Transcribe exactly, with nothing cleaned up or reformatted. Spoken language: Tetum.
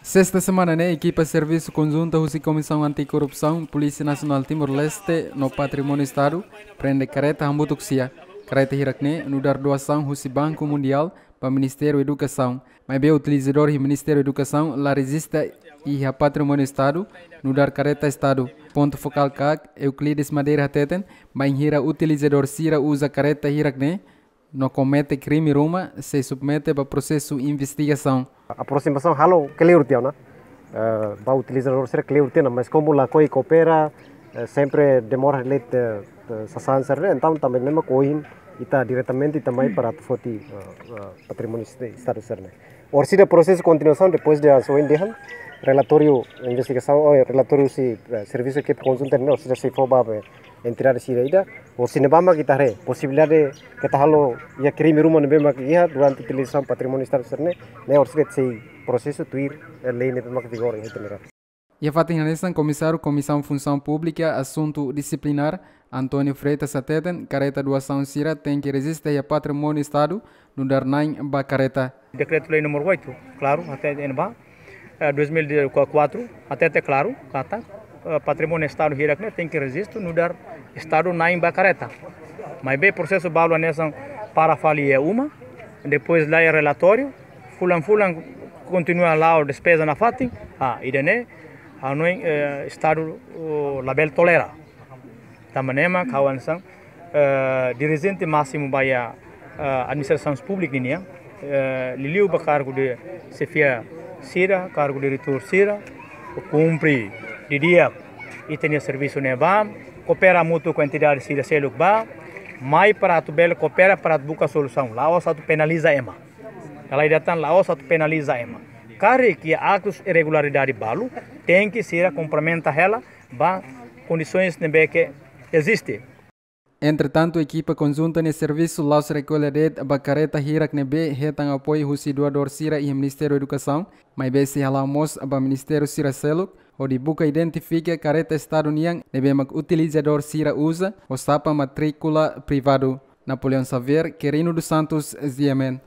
Sesta semana ne'e, ekipa servisu konjunta husi Komisaun Antikorrupsaun, Polísia Nasionál Timor-Leste no Patrimóniu Estadu prende kareta hamutuk sia. Kareta hirak-ne'e nu'udar doasaun husi Banku Mundiál ba Ministériu Edukasaun. Maibé utilizadór iha Ministériu Edukasaun la rejista iha Patrimóniu Estadu nu'udar kareta Estadu. Pontu fokál kaak, Euclides Madeira hateten, bainhira utilizadór sira uza kareta hirak-ne'e no komete krime ruma, sei submete ba prosesu investigasaun. Aprosimasaun halo kleur tiha ona, eh, ba utilizadór sira kleur tiha ona, mas komu lakohi koopera, eh, sempre demora late, eh, sasán sira-ne'e, entaun tanba ne'e mak ohin ita diretamente ita mai para atu foti, eh, eh, patrimóniu est-, Estadu sira-ne'e. Orsida prosesu kontinuasaun, depois de ohin dehan, relatóriu investigasaun, oh, relatóriu husi, eh, servisu ekipa konjunta ne'e, orsida sei fó ba, eh, entidade sira ida, orsida ne'ebá mak ita haree posibilidade keta halo iha krime ruma ne'ebé mak iha durante utilizasaun patrimóniu Estadu sira-ne'e, ne'e orsida sei prosesu tuir, eh, lei ne'ebé mak vigora iha ita-nia rai. Iha fatin hanesan, Komisáriu Komisaun Funsaun Públika, Asuntu Disiplinár, António Freitas hateten, kareta doasaun sira tenke rejista iha Patrimóniu Estadu nu'udar na'in ba kareta. Dekretu-Lei númeru oito, klaru, hatete iha ne'ebá, eh, dois mil e quatro, hatete klaru katak, eh, patrimóniu Estadu hirak-ne'e tenke rejistu nu'udar Estadu na'in ba kareta. Maibé prosesu balu hanesan para fali iha uma, depois laiha relatóriu, fulan-fulan kontinua la'o despeza nafatin, ah, ida-ne'e, hanoin, eh, Estadu, oh, labele tolera. Tanba ne'e mak ha'u hanesan, eh, dirijente másimu ba iha, eh, administrasaun públika ninian, eh, liuliu ba kargu de xefia sira, kargu diretór sira, kumpre didi'ak ita-nia servisu ne'ebá, koopera hamutuk ho entidade sira seluk ba, mai para atu bele koopera para atu buka solusaun, la'ós atu penaliza ema. Dala ida tan, la'ós atu penaliza ema. Karik iha aktus irregularidade balu, tenke sira komplementa hela ba kondisoens ne'ebé ke eziste. Entretantu, ekipa konjunta nia servisu la'ós rekolla de'it ba kareta hirak ne'ebé hetan apoiu husi doadór sira iha Ministériu Edukasaun, maibé sei hala'o mós ba ministériu sira seluk, hodi buka identifika kareta Estadu nian ne'ebé mak utilizadór sira uza, ho xapa matríkula privadu. Napoleão Xavier, Quirino dos Santos, G M N.